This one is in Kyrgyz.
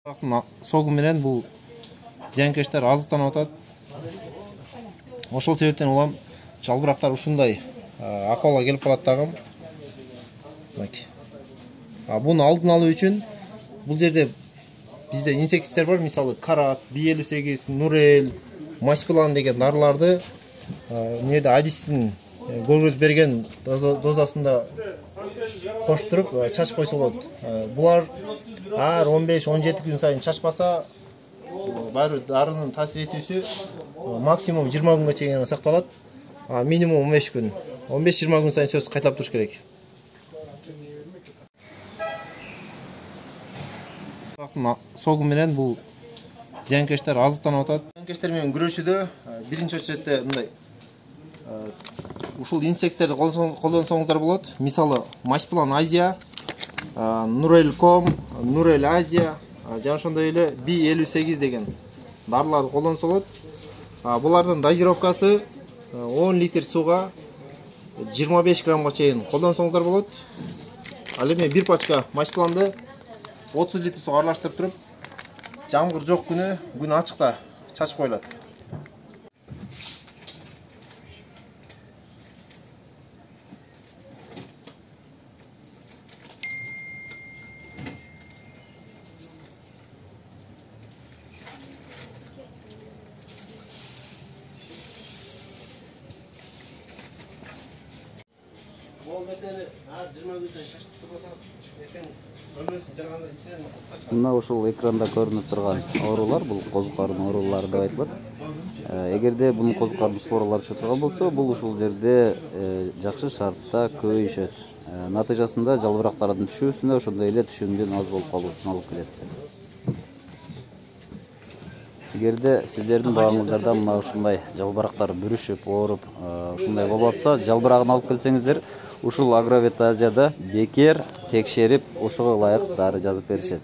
Согу менен бул зыянкечтер азыктанып атат. Ошол себептен улам жалбырактар ушундай акыбалга келип калат дагы. Буну алдын алуу үчүн бул жерде бизде инсектицидер бар, мисалы карат, B58, Нурел, Маспилан деген дарыларды эмнеде адистин көргөзүп берген дозасында коштуруп чачып койсо болот. Булар ар 15-17 күн сайын чачпаса, баары дарынын таасир этүүсү максимум 20 күнгө чейин сакталат. Минимум 15 күн. 15-20 күн сайын сөз кайталап туруш керек. Согу менен бул зыянкечтер азыктанып атат. Зыянкечтер менен күрөшүүдө биринчи очередте мындай ушул инсектицидерди колдонсоңуздар болот. Мисалы Маспилан Азия, Нурелком, Нурел Азия, жана ошондой эле B58 деген дарыларды колдонсо болот. Булардын дозировкасы 10 литр сууга 25 граммга чейин колдонсоңуздар болот. Ал эми бир пачка Маспиланды 30 литр сууга аралаштырып туруп, жамгыр жок күнү, күн ачыкта чачып коюлат. Мына ушул экранда көрүнүп турган оорулар бул козу карын оорулары деп айтылат. Эгерде бунун козу карын споралары түшө турган болсо, бул ушул жерде жакшы шартта көбөйүшөт. Натыйжасында жалбырактардын түшүүсүнө, ошондой эле түшүүнүн аз болуп калуусуна алып келет. Эгерде сиздердин багыңыздарда мына ушундай жалбырактар бүрүшүп, ооруп, ушундай болуп атса, жалбырагын алып келсеңиздер, ушул Агровет Азияда бекер текшерип, ошого ылайык дары жазып беришет.